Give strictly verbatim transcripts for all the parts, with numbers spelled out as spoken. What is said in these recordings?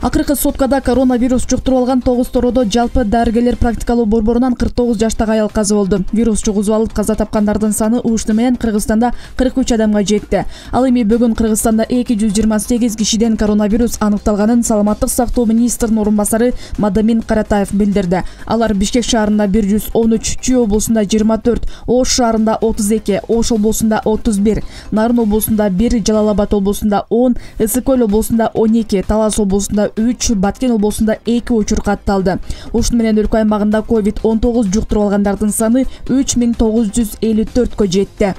Акыркы суткада коронавирус жуктуруп алган тогуз тородо жалпы дарыгерлер практикалуу борборунан кырк тогуз жаштагы аял каза болду. Вирус жугузуп алып каза тапкандардын саны ушуну менен Кыргызстанда кырк үч адамга жетти. Ал эми бүгүн Кыргызстанда эки жүз жыйырма сегиз кишиден коронавирус аныкталганын Саламаттык сактоо министринин орун басары Мадамин Каратаев билдирди. Алар Бишкек шаарында бир жүз он үч, Чүй облусунда жыйырма төрт, Ош шаарында отуз эки, Ош облусунда отуз бир, Нарын облусунда бир, Жалал Абад облусунда он, Ысык Көл облусунда он эки, Талас облусунда үч, Баткен облусунда эки учур катталды. Ушуну менен өлкө аймагында ковид он тогуз жуктуруп алгандардын саны үч миң тогуз жүз элүү төрткө жетти.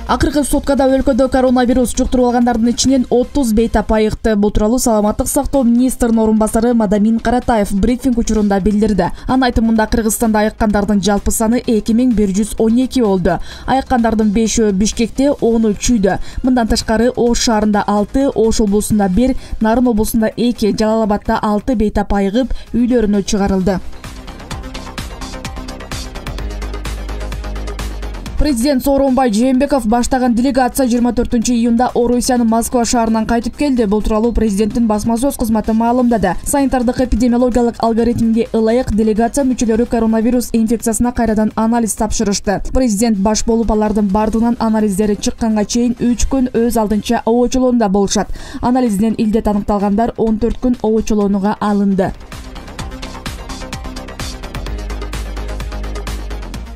Акыркы суткада өлкөдө коронавирус жуктуруп алгандардын ичинен отуз бейтап айыкты. Бул тууралуу Саламаттык сактоо министринин орун басары Мадамин Каратаев брифинг учурунда билдирди. Анын айтымында Кыргызстанда айыккандардын жалпы саны эки миң бир жүз он эки болду. Айыккандардын бешөө Бишкекте, onu Чүйдө. Мындан тышкары Ош шаарында алты, Ош облусунда бир, Нарын облусунда эки, Жалал Абадта алты бейтап айыгып үйлөрүнө чыгарылды. Президент Сооронбай Жээнбеков баштаган делегация жыйырма төртүнчү июнда Орусиянын Москва шаарынан кайтып келди. Бул тууралуу президенттин басма сөз кызматы маалымдады. Санитардык эпидемиологиялык алгоритмге ылайык делегация мүчөлөрү коронавирус инфекциясына кайрадан анализ тапшырышты. Президент баш болуп алардын бардыгынан анализдери чыкканга чейин үч күн өз алдынча обочолоонда болушат. Анализден илдет аныкталгандар он төрт күн обочолоонуга алынды.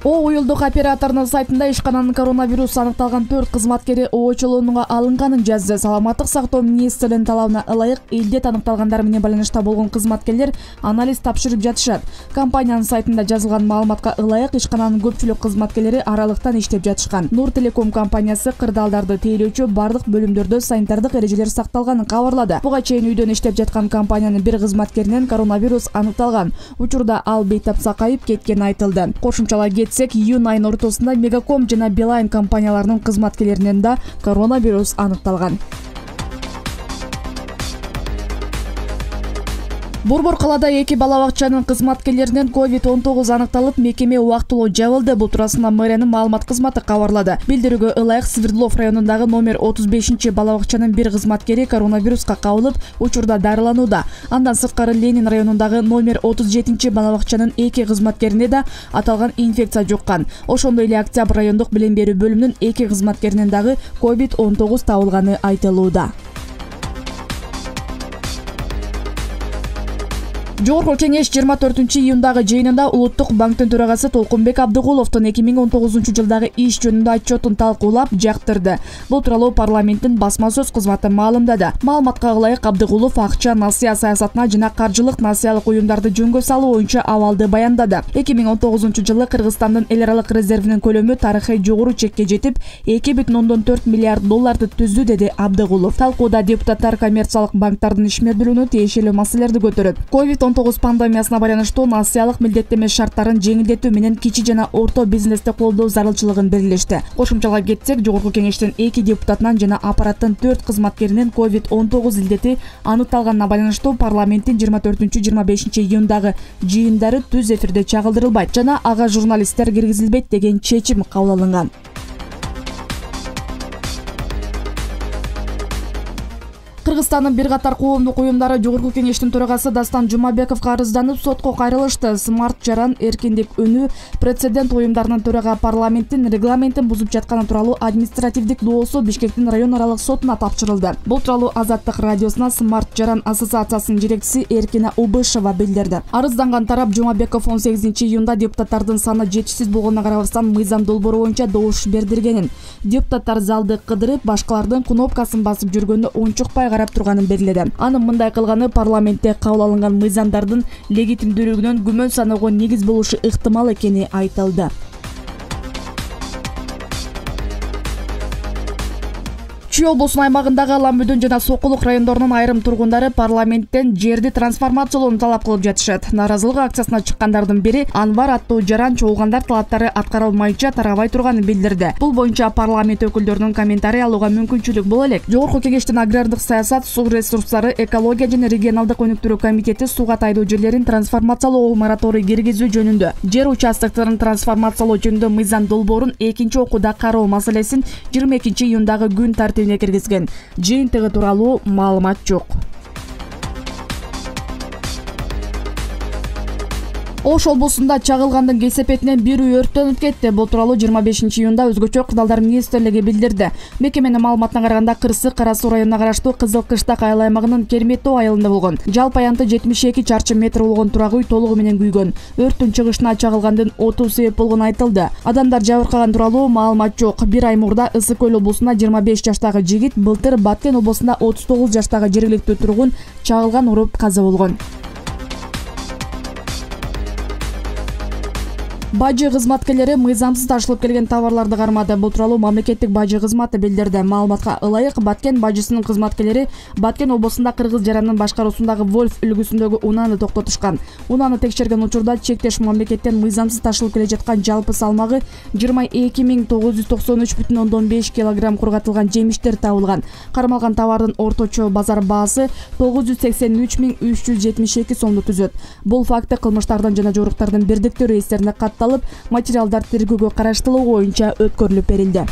О уюлдук операторунун сайтында ишкананын коронавирус аныкталган төрт кызматкери обочолоонуга алынганын жазды. Саламаттык сактоо министринин талабына ылайык илдет аныкталгандар менен байланышта болгон кызматкерлер анализ тапшырып жатышат. Компаниянын сайтында жазылган маалыматка ылайык ишкананын көпчүлүк кызматкерлери аралыктан иштеп жатышкан. Нур Телеком компаниясы кырдаалдарды тейлөөчү бардык бөлүмдөрдө санитардык эрежелер сакталганын кабарлады. Буга чейин үйдөн иштеп жаткан компаниянын бир кызматкеринен коронавирус аныкталган. Учурда ал бейтап сакайып кеткени айтылды. Кошумчалай июнь айынын ортосунда Мегаком жана Билайн компанияларынын кызматкерлеринен да коронавирус аныкталган. Борбор калаада эки бала бакчанын кызматкерлеринен ковид он тогуз аныкталып, мекеме убактылуу жабылды. Бул туурасында мэриянын маалымат кызматы кабарлады. Билдирүүгө ылайык Свердлов районундагы номер отуз бешинчи бала бакчанын бир кызматкери коронавируска кабылып, учурда дарыланууда. Андан сырткары Ленин районундагы номер отуз жетинчи бала бакчанын эки кызматкерине да аталган инфекция жуккан. Ошондой эле Октябрь райондук билим берүү бөлүмүнүн эки кызматкеринен дагы ковид он тогуз табылганы айтылууда. Жогорку кеңеш жыйырма төртүнчү июндагы жыйынында Улуттук банктын төрагасы Толкунбек Абдыгуловдун эки миң он тогузунчу жылдагы иш жөнүндө отчетун талкуулап жактырды. Бул тууралуу парламенттин басма сөз кызматы маалымдады. Маалыматка ылайык Абдыгулов акча насыя саясатына жана каржылык насыялык уюмдарды жөнгө салуу боюнча абалды баяндады. эки миң он тогузунчу жылы Кыргызстандын эл аралык резервинин көлөмү тарыхый жогору чекке жетип, эки бүтүн ондон төрт миллиард долларды түздү, деди Абдыгулов. Талкууда депутаттар коммерциялык банктардын ишмердүүлүгүнө тиешелүү маселелерди көтөрүп, ковид он тогуз пандемиясына байланыштуу насыялык милдеттеме шарттарын жеңилдетүү менен кичи жана орто бизнести колдоо зарылчылыгын белгилешти. Кошумчалап кетсек, Жогорку кеңештин эки депутатынан жана аппараттын төрт кызматкеринен ковид он тогуз илдети аныкталганына байланыштуу парламенттин жыйырма төртүнчү жыйырма бешинчи июндагы жыйындары түз эфирде чагылдырылбайт жана ага журналисттер киргизилбейт деген чечим кабыл алынган. Кыргызстандын бир катар коомдук уюмдары Жогорку кеңештин төрагасы Дастан Жумабековго арызданып, сотко кайрылышты. Смарт Жаран, Эркиндик үнү, прецедент уюмдарынын төрага парламенттин регламентин бузуп жатканы тууралуу административдик доосу Бишкектин район аралык сотуна тапшырылды. Бул тууралуу Азаттык радиосуна Смарт Жаран ассоциациясынын жетекчиси Эркина Убышева билдирди. Арызданган тарап Жумабеков он сегизинчи июнда депутаттардын саны жетишсиз болгонуна карабастан мыйзам долбоору боюнча добуш бердиргенин. Депутаттар залды кыдырып, башкалардын кнопкасын басып жүргөндө унчукпай карап турганын белгиледи. Анын мындай кылганы парламентте кабыл алынган мыйзамдардын легитимдүүлүгүнөн күмөн саноого негиз болушу ыктымал экени айтылды. Чүй облусунун аймагындагы Ламбүдүн жана Сокулук райондорунун айрым тургундары парламенттен жерди трансформациялоону талап кылып жатышат. Наразылык акциясына чыккандардын бири Анвар аттуу жаран чогулгандар талаптары аткарылмайча тарабай турганын билдирди. Бул боюнча парламент өкүлдөрүнүн комментарий алууга мүмкүнчүлүк боло элек. Жогорку кеңештин агрардык саясат, суу ресурстары, экология жана регионалдык өнүктүрүү комитети сууга тайдуу жерлерин трансформациялоо мораторий киргизүү жөнүндө, жер участокторун трансформациялоо жөнүндө мыйзам долбоорун экинчи окууда кароо маселесин жыйырма экинчи июндагы күн тартибине спискине киргизген. Жыйынтыгы тууралуу маалымат жок. Ош облусунда чагылгандын кесепетинен бир үй өрттөнүп кетти. Бул тууралуу жыйырма бешинчи июнда Өзгөчө кырдаалдар министрлиги билдирди. Мекеменин маалыматына караганда Кырсык Кара Суу районуна караштуу Кызыл Кыштак айыл аймагынын Керметтөө айылында болгон. Жалпы аянты жетимиш эки чарчы метр болгон турак үй толугу менен күйгөн. Өрттүн чыгышына чагылгандын оту себеп болгону айтылды. Адамдар жабыркаган тууралуу маалымат жок. Бир ай мурда Ысык Көл облусунда жыйырма беш жаштагы жигит, былтыр Баткен облусунда отуз тогуз жаштагы жергиликтүү тургун чагылган уруп каза болгон. Бажы кызматкерлери мыйзамсыз ташылып келген товарларды кармады. Бул тууралуу мамлекеттик бажы кызматы билдирди. Маалыматка ылайык, Баткен бажысынын кызматкерлери Баткен облусунда кыргыз жарандын башкаруусундагы Вольф үлгүсүндөгү унааны токтотушкан. Унааны текшерген учурда чектеш мамлекеттен мыйзамсыз ташылып келе жаткан жалпы салмагы жыйырма эки миң тогуз жүз токсон үч бүтүн ондон беш килограмм кургатылган жемиштер табылган. Кармалган товардын орточо базар баасы тогуз жүз сексен үч миң үч жүз жетимиш эки сомду түзөт. Бул факты кылмыштардын жана жоруктардын бирдиктүү реестерине катталып, материалдар тергөөгө караштылуу боюнча өткөрүлүп берилди.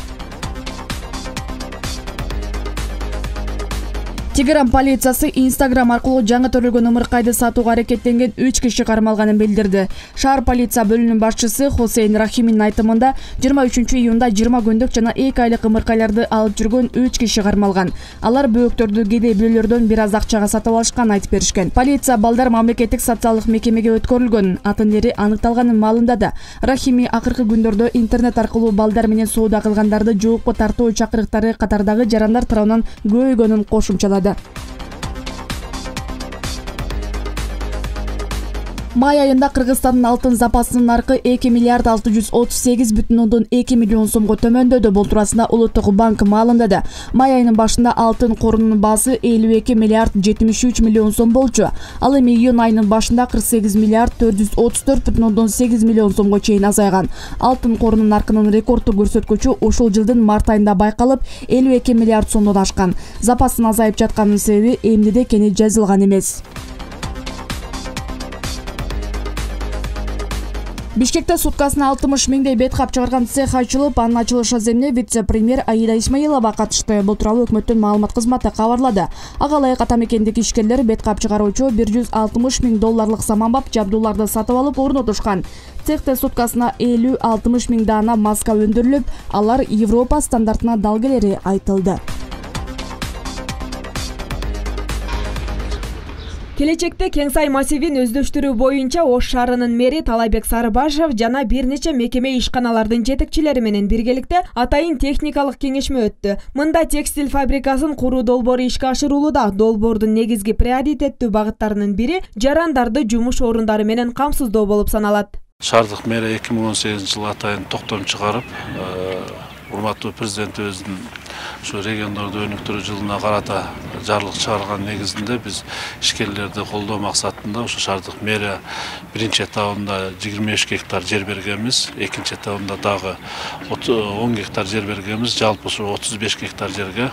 Тегеран полициясы Instagram аркылуу жаңы төрөлгөн ымыркайды сатууга аракеттенген үч киши кармалганын билдирди. Шаар полиция бөлүмүнүн башчысы Хусейн Рахиминин айтымында жыйырма үчүнчү июнда жыйырма күндүк жана эки айлык ымыркайларды алып жүргөн үч киши кармалган. Алар бөөктөрдү кедей бирөөлөрдөн бир аз акчага сатып алышканын айтып беришкен. Полиция балдар мамлекеттик социалдык мекемеге өткөрүлгөн. Атын эри аныкталганын маалымдады. Рахими акыркы күндөрдө интернет аркылуу балдар менен соода кылгандарды жоопко тартуу чакырыктары катардагы жарандар тарабынан көбөйгөнүн кошумчалады. Май айында Кыргызстандын алтын запасынын наркы эки миллиард алты жүз отуз сегиз бүтүн ондон эки миллион сомго төмөндөдү. Бул туурасында Улуттук банк маалымдады. Май айынын башында алтын корунун баасы элүү эки миллиард жетимиш үч миллион сом болчу. Ал эми июнь айынын башында кырк сегиз миллиард төрт жүз отуз төрт бүтүн ондон сегиз миллион сомго чейин азайган. Алтын корунун наркынын рекорддук көрсөткүчү ушул жылдын март айында байкалып, элүү эки миллиард сомдон ашкан. Запастын азайып жатканынын себеби эмнеде экени жазылган эмес. Бишкекте суткасына алтымыш миңдей бет кап чыгарган цех ачылып, анын ачылыш аземине вице-премьер Аида Исмаилова катышты. Бул тууралуу өкмөттүн маалымат кызматы кабарлады. Ага ылайык атамекендик ишкерлер бет кап чыгаруучу бир жүз алтымыш миң долларлык саманбап жабдууларды сатып алып орнотушкан. Цехте суткасына элүү алтымыш миң даана маска өндүрүлүп, алар Европа стандартына дал келери айтылды. Келечекте Кеңсай массивин өздөштүрүү боюнча Ош шаарынын мэри Талайбек Сарыбашев жана бир нече мекеме ишканалардын жетекчилери менен биргеликте атайын техникалык кеңешме өттү. Мында текстиль фабрикасын куруу долбоору ишке ашырылууда. Долбоордун негизги приоритеттүү багыттарынын бири жарандарды жумуш орундары менен камсыздоо болуп саналат. Шаардык мэрия эки миң он сегизинчи жылы атайын токтом чыгарып, урматтуу президентибиздин ушу региондорду өнүктүрүү жылына карата жарлык чыгарган негизинде биз ишкерлерди колдоо максатында ушу шаардык мэрия биринчи этабында жыйырма беш гектар жер бергенбиз, экинчи этабында дагы он гектар жер бергенбиз, жалпы ушу отуз беш гектар жерге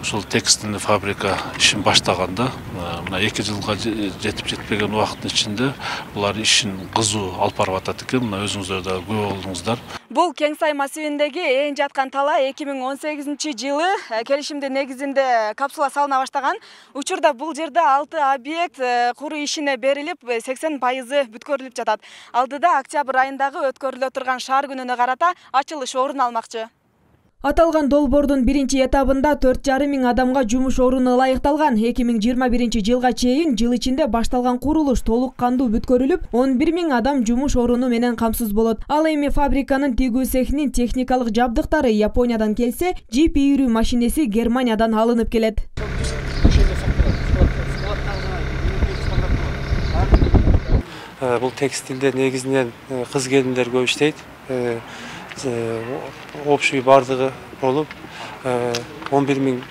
ушул текстильный фабрика ишин баштаганда мына эки жылга жетип жетпеген убакыттын ичинде булар ишин кызуу алып барып атат экен. Мына өзүңүздөр да күбө болдуңуздар. Бул Кеңсай массивиндеги эң жаткан тала эки миң он сегизинчи жылы келишимдин негизинде капсула салына баштаган. Учурда бул жерде алты объект куруу ишине берилип, сексен пайызы бүткөрүлүп жатат. Алдыда октябрь айындагы өткөрүлө турган шаар күнүнө карата ачылыш орун алмакчы. Аталган долбоордун биринчи этабында төрт жарым миң адамга жумуш оруну ылайыкталган. эки миң жыйырма биринчи жылга чейин жыл ичинде башталган курулуш толук кандуу бүткөрүлүп, он бир миң адам жумуш оруну менен камсыз болот. Ал эми фабриканын тигүү цехинин техникалык жабдыктары Япониядан келсе, жип ийрүү машинеси Германиядан алынып келет. Бул текстилде негизинен кыз келиндер көп иштейт. Общий бардыгы болуп он бир миң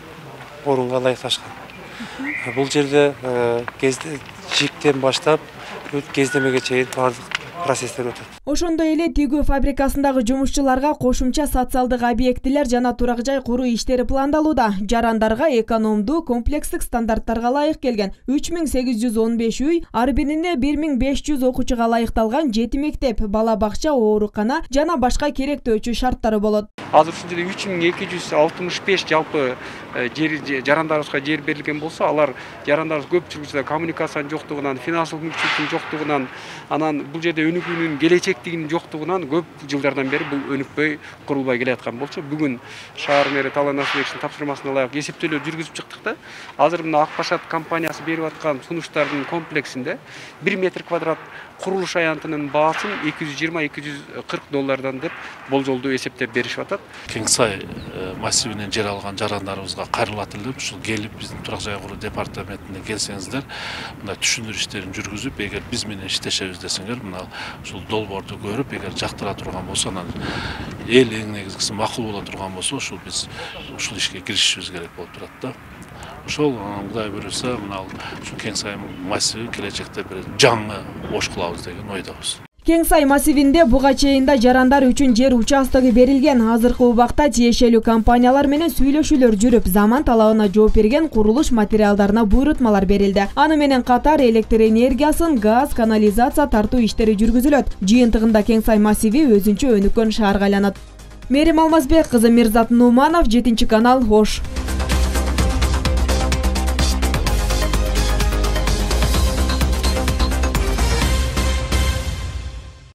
орунга ылайыкташкан. Бул жерде жиптен баштап кездемеге чейин бардык процесстер өтөт. Ошондой эле тигүү фабрикасындагы жумушчуларга кошумча социалдык объектилер жана турак жай куруу иштери пландалууда. Жарандарга экономдуу комплекстик стандарттарга ылайык келген үч миң сегиз жүз он беш үй, ар бирине бир миң беш жүз окуучуга ылайыкталган жети мектеп, бала бакча, оорукана жана башка керектөөчү шарттары болот. Азыр ушул жерде үч миң эки жүз алтымыш беш жалпы жер жарандарыбызга жер берилген болсо, алар жарандарыбыз көпчүлүгү коммуникациянын жоктугунан, финансылык мүмкүнчүлүктүн жоктугунан, анан бул жерде өнүгүүнүн келечектигинин жоктугунан көп жылдардан бери бул өнүкпөй курулбай келаткан болчу. Бүгүн шаар мэри Талай Насыбековичтин тапшырмасына ылайык эсептөөлөр жүргүзүп чыктык да. Азыр мына Ак Башат компаниясы берип аткан сунуштардын комплексинде бир метр квадрат курулуш аянтынын баасын эки жүз жыйырма эки жүз кырк доллардан деп болжолдуу эсептеп беришип атат. Кең Сай массивинен жер алган жарандарыбызга кайрылат элем. Ушул келип биздин турак жай куруу департаментине келсеңиздер, мындай түшүндүрүү иштерин жүргүзүп, эгер биз менен иштешебиз десеңер, мына ушул долбоорду көрүп, эгер жактыра турган болсо, анан эл эң негизгиси макул боло турган болсо, ушул биз ушул ишке киришишибиз керек болуп турат да. Ошол Кудай буйруса, мына ушул Кең Сай массиви келечекте бир жаңы ош кылабыз деген ойдобуз. Кең Сай массивинде буга чейин жарандар үчүн жер участогу берилген. Азыркы убакта тиешелүү компаниялар менен сүйлөшүүлөр жүрүп, заман талабына жооп берген курулуш материалдарына буйрутмалар берилди. Аны менен катар электр энергиясын, газ, канализация тартуу иштери жүргүзүлөт. Жыйынтыгында Кең Сай массиви өзүнчө өнүккөн шаарга айланат. Мерим Алмазбек кызы, Мирзат Нуманов, жетинчи канал, Ош.